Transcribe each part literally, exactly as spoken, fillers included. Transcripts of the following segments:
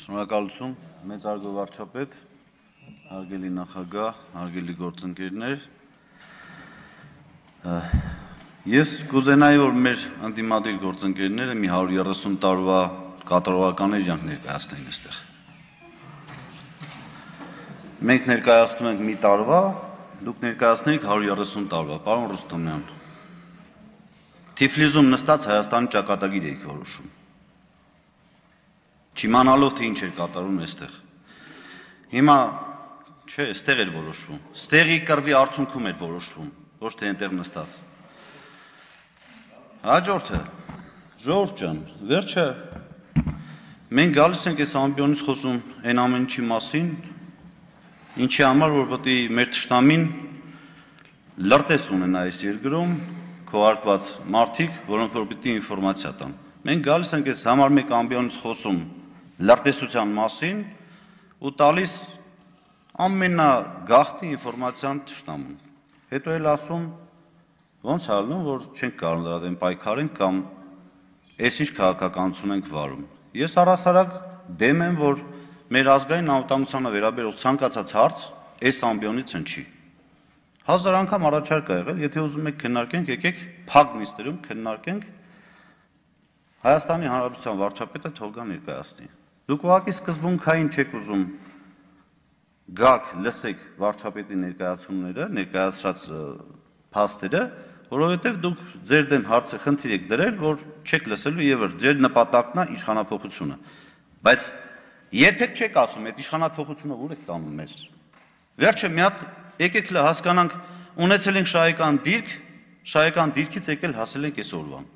Շնորհակալություն, մեծարգո վարչապետ, հարգելի նախագահ, հարգելի գործընկերներ։ Ես կուզենայի, որ մեր ընդդիմադիր գործընկերները մի հարյուր երեսուն տարվա կատարողական իրավունք ներկայացնեն այստեղ։ Մենք ներկայացնում ենք մի տարվա, դուք ներկայացնեք հարյուր երեսուն տարվա, պարոն Ռուստոմյան։ Թիֆլիզում նստած Հայաստանի ճակատագիր եք որոշում։ Չիմանալով թե ինչ էր կատարում այստեղ։ Հիմա չէ, այստեղ էր որոշվում։ Ստեղի կռվի արդյունքում էր որոշվում, ոչ թե այնտեղ նստած։ Հաջորդը, ժողովուրդ ջան, վերջը մենք գալիս ենք այս ամբիոնից խոսում այն ամեն ինչի մասին, ինչի համար որ պետք է մեր թշնամին լրտես ունենա այս երկրում քողարկված մարդիկ, որոնք որ պետք է ինֆորմացիա տան։ Մենք գալիս ենք այս համար մեկ ամբիոնից խոսում լրտեսության մասին ու տալիս ամենագաղթի ինֆորմացիան թշնամուն։ Հետո էլ ասում, ոնց ալնում, որ չենք կարող դրա դեմ պայքարենք կամ այսինչ քաղաքականություն ենք վարում։ Ես առհասարակ դեմ եմ, որ մեր ազգային անվտանգությանը վերաբերող ցանկացած հարց այս ամբիոնից հնչի։ Հազար անգամ առաջարկ ա եղել, եթե ուզում եք քննարկենք, եկեք փակ նիստերում քննարկենք, Հայաստանի Հանրապետության վարչապետը թող գա ներկայացնի։ Դուք ուղղակի սկզբունքային չեք ուզում գաք, լսեք վարչապետի ներկայացումները, ներկայացրած փաստերը, որովհետև դուք ձեր դեմ հարցը խնդիր եք դրել, որ չեք լսելու եւ ձեր նպատակն է իշխանափոխությունը։ Բայց երբեք չեք ասում, այդ իշխանափոխությունը ուր եք տանում մեզ։ Վերջը մի հատ եկեք հասկանանք, ունեցել ենք շահեկան դիրք, շահեկան դիրքից եկել հասել ենք այսօրվան։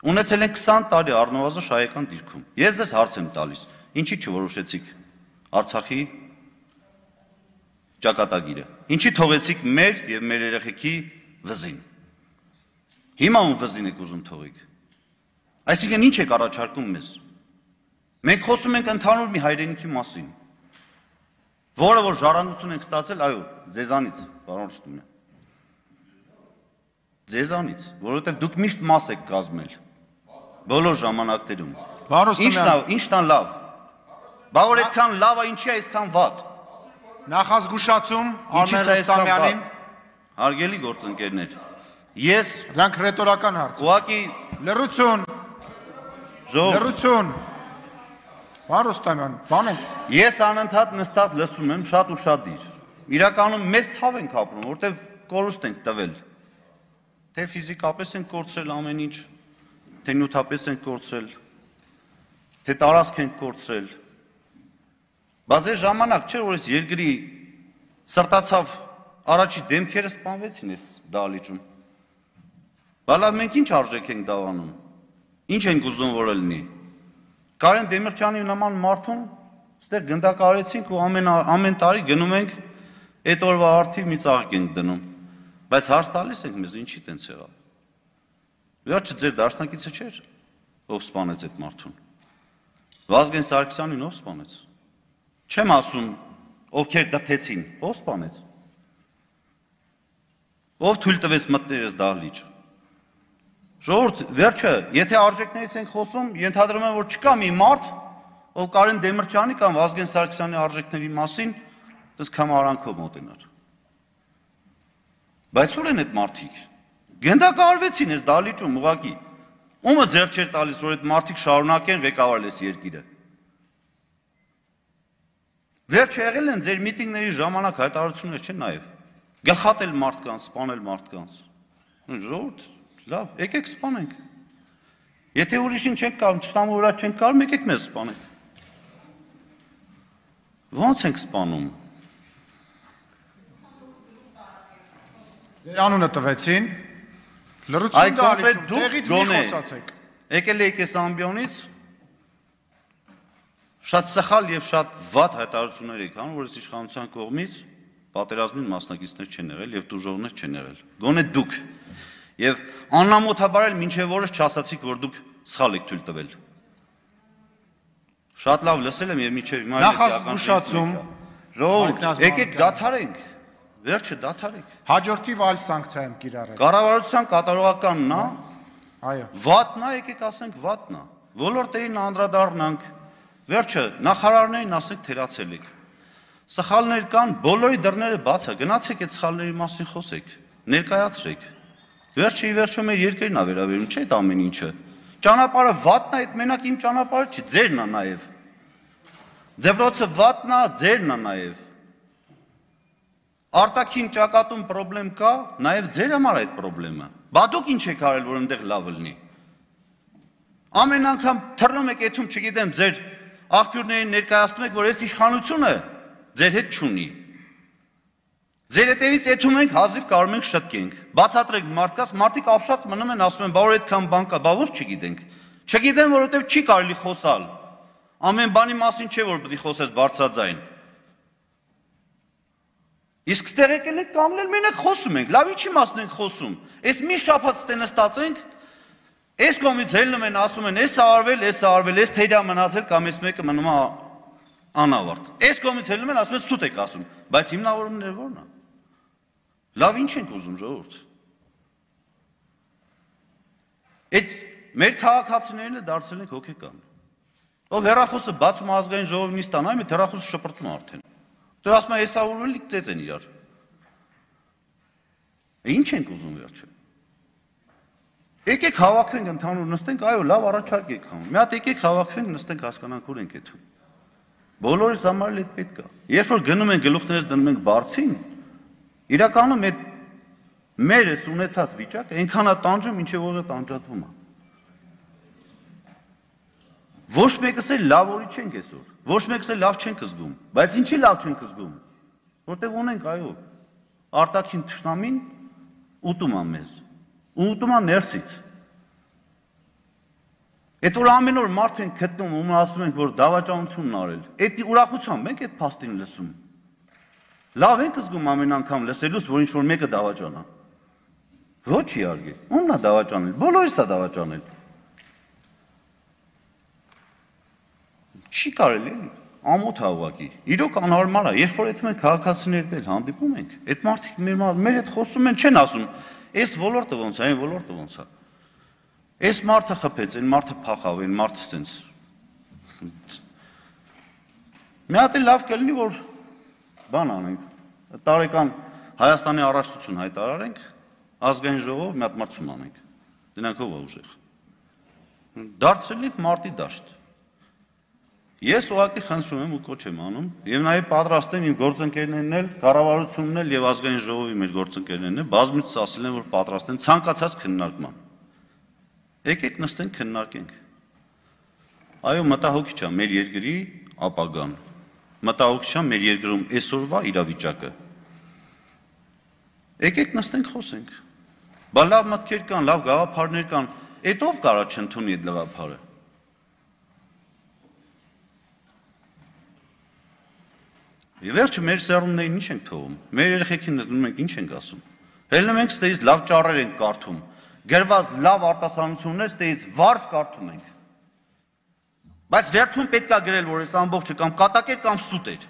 Ունեցել ենք քսան տարի առնվազն շահեկան դիրքում։ Ես ձեզ հարց եմ տալիս, ինչի չորոշեցիք Արցախի ճակատագիրը։ Ինչի թողեցիք մեր եւ մեր երեխեքի վզին։ Հիմա ում վզին եք ուզում թողիկ։ Այսինքն ինչ եք առաջարկում մեզ։ Մենք խոսում ենք ընդհանուր մի հայրենիքի մասին, որը որ ժառանգություն ենք ստացել, այո, ձեզանից, պարոն Ռուստոմյան։ Ձեզանից, որովհետեւ դուք միշտ մաս եք կազմել բոլոր ժամանակներում։ Ինչն է լավ։ Բա որ այդքան լավ է, ինչի է այսքան վատ։ Նախազգուշացում Արմեն Ռուստամյանին։ Հարգելի գործընկերներ, ես դրանք ռետորական հարց։ Ուղղակի լռություն։ Լռություն։ Պարոն Ռուստամյան, բան եք։ Ես անընդհատ նստած լսում եմ շատ ու շատ դիր։ Իրականում մեզ ցավ ենք ապրում, որտեղ կորուստ ենք տվել։ Թե ֆիզիկապես ենք կորցրել ամեն ինչ, թե նյութապես ենք կորցրել, թե տարածք ենք կորցրել։ Բայց այս ժամանակ չէ, որ այս երկրի սրտացավ առաջի դեմքերը սպանվեցին այս դահլիճում։ Բալա մենք ինչ արժեք ենք դավանում։ Ինչ ենք ուզում որ լինի։ Կարեն Դեմիրճյանի նման մարդուն ստեղ գնդակարեցինք ու ամեն ամեն տարի գնում ենք այդ օրվա արդիվ մի ծաղիկ ենք դնում։ Բայց հարց տալիս ենք մեզ ինչի տենց եղավ։ Վերջը ձեր դաշնակիցը չէր, ով սպանեց այդ մարդուն։ Վազգեն Սարգսյանին ով սպանեց։ Չեմ ասում, ովքեր դրթեցին, ով սպանեց։ Ով թույլ տվեց մտնել այս դահլիճ։ Ժողովուրդ, վերջը, եթե արժեքներից ենք խոսում, ենթադրում եմ, որ չկա մի մարդ, ով Կարեն Դեմիրճյանի կամ Վազգեն Սարգսյանի արժեքների մասին դες կամարանքով մոտենար։ Բայց ո՞ր են այդ մարդիկ։ Գնդակահարվեցին այս դահլիճում ուղղակի։ Ումը ձեռք չէր տալիս, որ այդ մարդիկ շարունակեն ղեկավարել այս երկիրը։ Վերջը եղել են ձեր միտինգների ժամանակ հայտարարություններ չեն նաև։ Գլխատել մարդկանց, սպանել մարդկանց։ Ժողովուրդ, լավ, եկեք սպանենք։ Եթե ուրիշին չենք կարող, թշնամու վրա չենք կարող, եկեք մեզ սպանենք։ Ո՞նց ենք սպանում։ Ձեր անունը տվեցին։ Լռություն դահլիճում, տեղից մի խոսացեք։ Եկել եք այս ամբիոնից շատ սխալ եւ շատ վատ հայտարարություններ եք անում, որ այս իշխանության կողմից պատերազմին մասնակիցներ չեն եղել եւ տուժողներ չեն եղել։ Գոնե դուք եւ աննամոթաբար էլ մինչեւ որս չասացիք, որ դուք սխալ եք թույլ տվել։ Շատ լավ լսել եմ եւ մինչեւ հիմա նախազգուշացում ժողովուրդ, եկեք դադարենք։ Վերջը դադարեք։ Հաջորդիվ այլ սանկցիա եմ կիրառել։ Կառավարության կատարողականն է։ Այո։ Վատն է, եկեք ասենք վատն է։ Ոլորտերին անդրադառնանք, վերջը նախարարներին ասենք թերացել եք։ Սխալներ կան, բոլորի դռները բաց է, գնացեք այդ սխալների մասին խոսեք, ներկայացրեք։ Վերջը ի վերջո մեր երկրին է վերաբերում, չէ՞ այդ ամեն ինչը։ Ճանապարհը վատն է, այդ մենակ իմ ճանապարհը չի, ձերն է նաև։ Դեպրոցը վատն է, ձերն է նաև։ Արտաքին ճակատում խնդրեմ կա, նաև ձեր համար այդ խնդրեմը։ Բա դուք ինչ եք արել, որ այնտեղ լավ լինի։ Ամեն անգամ թռնում եք այդում, չգիտեմ, ձեր աղբյուրներին ներկայացնում եք, որ այս իշխանությունը ձեր հետ չունի։ Ձեր հետևից այդում ենք, հազիվ կարող ենք շտկենք։ Բացատրենք մարդկաց, մարդիկ ապշած մնում են, ասում են, բա որ այդքան բան կա, բա ո՞նց չգիտենք։ Չգիտեն, որովհետև չի կարելի խոսալ։ Ամեն բանի մասին չէ, որ պետք է խոսես բարձրաձայն։ Իսկ ստեղ եկել եք կանգնել, մենակ խոսում ենք, լավ ինչի մասն ենք խոսում։ Այս մի շաբաթ ստե նստած ենք, այս կողմից ելնում են, ասում են, էս արվել, էս արվել, էս թեյդա մնացել կամ էս մեկը մնում է անավարտ։ Այս կողմից ելնում են, ասում են, սուտ եք ասում, բայց հիմնավորումները ո՞րն է։ Լավ ինչ ենք ուզում, ժողովուրդ։ Այդ մեր քաղաքացիներն դարձել ենք հոգեկան։ Ով հեռախոսը բացում ազգային ժողովի նիստան, այ մի հեռախոսը շպրտում արդեն։ Դու ասում ես, էսա ուրվել ծեծ են իրար։ Ինչ ենք ուզում վերջը։ Եկեք հավաքվենք ընդհանուր նստենք, այո, լավ առաջարկ եք անում։ Մի հատ եկեք հավաքվենք, նստենք, հասկանանք ուր ենք այդում։ Բոլորիս համար էլ այդ պետք է։ Երբ որ գնում են գլուխներս դնում ենք բարձին, իրականում այդ մեր էս ունեցած վիճակը այնքան է տանջում, ինչեւ որ է տանջատվում է։ Ոչ մեկս էլ լավ օրի չենք այսօր։ Ոչ մեկս էլ լավ չենք զգում, բայց ինչի լավ չենք զգում։ Որտեղ ունենք, այո, արտաքին թշնամին ուտում է մեզ։ Ու ուտում է ներսից։ Այդ որ ամեն օր մարդ ենք գտնում, ում ասում ենք, որ դավաճանությունն արել։ Այդ ուրախությամբ ենք այդ փաստին լսում։ Լավ ենք զգում ամեն անգամ լսելուց, որ ինչ-որ մեկը դավաճանա։ Ոչ իհարկե, ումն է դավաճանել, բոլորիս է դավաճանել։ Չի կարելի էլի, ամոթ է ուղղակի։ Իրոք անհարմար է, երբ որ այդպես քաղաքացիներդ էլ հանդիպում ենք, այդ մարդիկ մեր հետ խոսում են, չեն ասում, այս ոլորտը ոնց է, այն ոլորտը ոնց է։ Այս մարդը խփեց, այն մարդը փախավ, այն մարդը սենց։ Մի հատ էլ լավ կլինի, որ բան անենք, տարեկան Հայաստանի առաջնություն հայտարարենք, ազգային ժողով մի հատ մրցում անենք, դրանք ով է ուժեղ։ Դարձել ենք մարտի դաշտ։ Ես ուղղակի խնդրում եմ ու կոչ եմ անում, եւ նաեւ պատրաստ եմ իմ գործընկերներն էլ, կառավարությունն էլ եւ ազգային ժողովի մեր գործընկերներն էլ բազմիցս ասել են, որ պատրաստ են ցանկացած քննարկման։ Եկեք նստենք քննարկենք։ Այո, մտահոգիչ է մեր երկրի ապագան։ Մտահոգիչ է մեր երկրում այսօրվա իրավիճակը։ Եկեք նստենք խոսենք։ Բա լավ մտքեր կան, լավ գաղափարներ կան, այդ ով կարա չընդունի այդ գաղափարը։ Եվ վերջը մեր սերունդներին ինչ ենք թողում, մեր երեխեքին դնում ենք ինչ ենք ասում, հելնում ենք ստեից լավ ճառեր ենք կարդում, գրված լավ արտասանություններ ստեից վարժ կարդում ենք, բայց վերջում պետք է գրել, որ այս ամբողջը կամ կատակ էր կամ սուտ էր,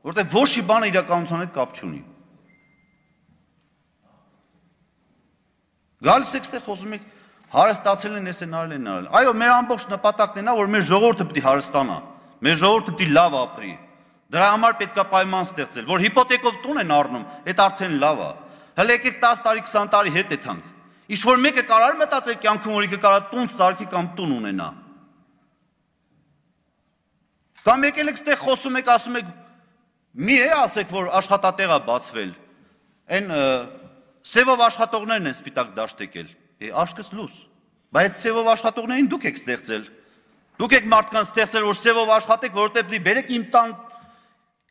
որտեղ ոչ մի բանը իրականության հետ կապ չունի։ Գալիս եք ստեղ խոսում եք, հարստացել են, ես են արել են արել, այո, մեր ամբողջ նպատակն է, որ մեր ժողովուրդը պետք է հարստանա։ Մեր ժողովուրդը պետք է լավ ապրի։ Դրա համար պետք է պայման ստեղծել, որ հիպոթեկով տուն են առնում, այդ արդեն լավ է։ Հələ եկեք տասը տարի, քսան տարի հետ եթանք։ Ինչ որ մեկը կարող մտածել կյանքում, որ ինքը կարող տուն սարքի կամ տուն ունենա։ Կամ եկել եք ստեղ խոսում եք, ասում եք, մի է ասեք, որ աշխատատեղ է բացվել։ Այն սևով աշխատողներն են սպիտակ դաշտ եկել։ Է աշկս լուս։ Բայց սևով աշխատողներին դուք եք ստեղծել։ Դուք եք մարդկանց ստեղծել, որ սևով աշխատեք, որովհետև դի բերեք իմ տան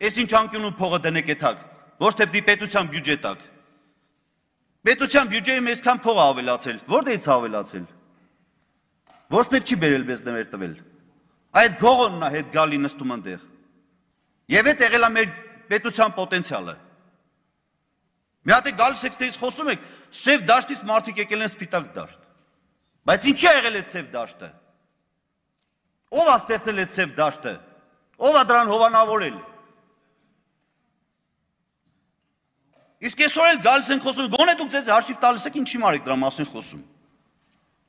այս ինչ անկյունում փողը դնեք այդակ, ոչ թե դի պետության բյուջե տակ։ Պետության բյուջեի մեզքան փող է ավելացել, որտեղից է ավելացել։ Ոչ մեկ չի բերել մեզ դեր տվել։ Այդ գողոնն է հետ գալի նստում այնտեղ։ Եվ այդ եղել է մեր պետության պոտենցիալը։ Մի հատ է գալիս եք ստեից խոսում եք, սև դաշտից մարդիկ եկել են սպիտակ դաշտ։ Բայց ինչի է եղել այդ սև դաշտը։ Ով է ստեղծել այդ սև դաշտը։ Ով է դրան հովանավորել։ Իսկ այսօր էլ գալիս են խոսում, գոնե դուք ձեզ հաշիվ տալիս եք ինչի մարեք դրա մասին խոսում։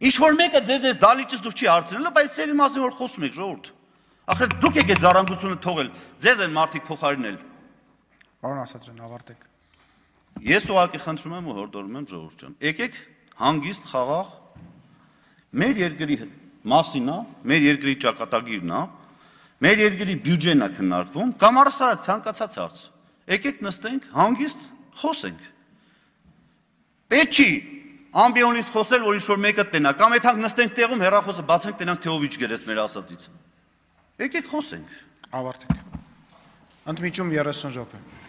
Ինչ որ մեկը ձեզ այս դալիճից դուք չի հարցնել, բայց սերի մասին որ խոսում եք, ժողովուրդ։ Ախր դուք եք այս ժառանգությունը թողել, ձեզ են մարդիկ փոխարինել։ Պարոն Ասատրյան, ավարտեք։ Ես ուղղակի խնդրում եմ ու հորդորում եմ ժողովուրդ ջան, եկեք հանգիստ խաղաղ մեր երկրի մասին է, մեր երկրի ճակատագիրն է, մեր երկրի բյուջեն է քննարկվում, կամ առասարակ ցանկացած հարց։ Եկեք նստենք, հանգիստ խոսենք։ Պետք չի ամբիոնից խոսել, որ ինչ-որ մեկը տնա, կամ այդ հանք նստենք տեղում, հեռախոսը բացենք, տնանք թե ով ինչ գրեց մեր ասածից։ Եկեք խոսենք։ Ավարտեք։ Ընդմիջում երեսուն րոպե։